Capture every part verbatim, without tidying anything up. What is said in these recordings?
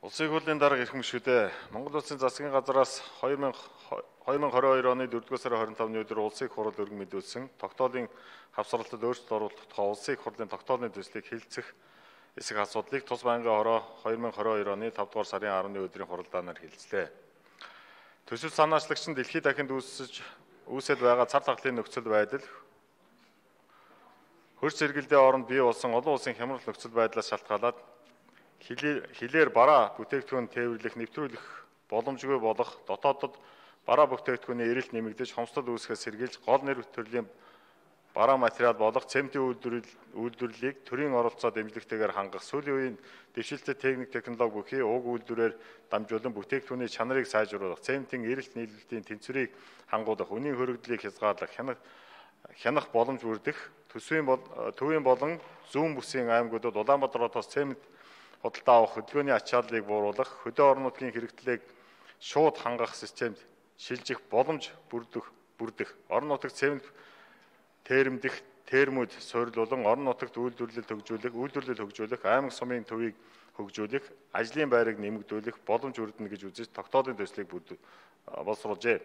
Улсын хурлын дарга ирэх мөшгөдөө Монгол Улсын засгийн газраас хоёр мянга хоёрын оны дөрөвдүгээр сарын хорин тавны өдөр улсын хурал өргөн мэдүүлсэн тогтоолын хавсралтад өөрчлөлт оруулах тухай улсын хурлын тогтоолын төслийг хэлэлцэх эсэх асуудлыг тус байнгын хороо хоёрын оны тавдугаар сарын арваны өдрийн хуралдаанаар хэлэлцлээ. Төсөл санаачлагч нь дэлхийд дахинд үүсэж үүсэл байгаа цар тахлын нөхцөл байдал хөрс зэрэгэлдээ оронд бий болсон олон улсын хямрал нөхцөл байдлаас шалтгаалаад хилээр бараа бүтээгдэхүүн тээвэрлэх, нэвтрүүлэх боломжгүй болох дотоодод бараа бүтээгдэхүүний эрэлт нэмэгдэж, хомсдол үүсгэхээс сэргийлж, гол нэр төрлийн бараа материал болох цементийн үйлдвэрлэлийг төрийн оролцоо дэмжлэгтэйгээр хангах, сүүлийн үеийн дэвшилтэт техник технологи бүхий уг үйлдвэрээр дамжуулан бүтээгдэхүүний чанарыг сайжруулах, цементийн эрэлт нийлүүлэлтийн тэнцвэрийг хангуулах, үнийн хөрөгдлийг хязгаарлах, хянах хянах боломж бүрдэх, төсвийн төвийн болон зүүн бүсийн аймагуудад Улаанбаатароос цемент худалдаа авах хөдөлгөөний ачааллыг бууруулах, хөдөө орон нутгийн хэрэгтлийг шууд хангах системд шилжих боломж бүрдэх, бүрдэх, орон нутагт цемент терэмдэх, термүүд суйрлуулан орон нутагт үйлдвэрлэл хөгжүүлэх, үйлдвэрлэл хөгжүүлэх, аймаг сумын төвийг хөгжүүлэх, ажлын байрыг нэмэгдүүлэх боломж бүрдэнэ гэж үзэж тогтоолын төслийг боловсруулжээ.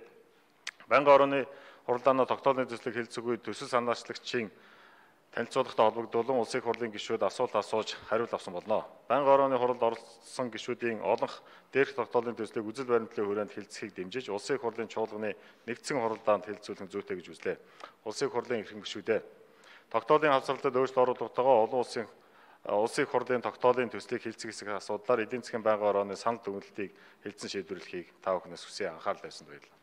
Байнгын орны хуралдаанаа тогтоолын төслийг хэлэлцэх үед төсөл санаачлагчийн танилцуулгатай холбогдуулан улсын хурлын гишүүд асуулт асууж хариулт авсан болно. Байнгын орны хуралд оролцсон гишүүдийн олонх дээрх тогтоолын төслийг үзэл баримтлалын хүрээнд хэлэлцэхийг дэмжиж улсын хурлын чуулганы нэгдсэн хуралдаанд хэлэлцүүлэх зүйтэй гэж үзлээ. Улсын хурлын эрхэм гишүүдээ тогтоолын хавсралтад өөрчлөлт оруулахтайгаа олон улсын улсын хурлын тогтоолын төслийг хэлэлцэх хэсэг асуудлаар эдийн засгийн байнгын орны санал дүгнэлтийг хэлэлцэн шийдвэрлэхийг та бүхнээс хүсье анхаарал тавьсанд баярлалаа.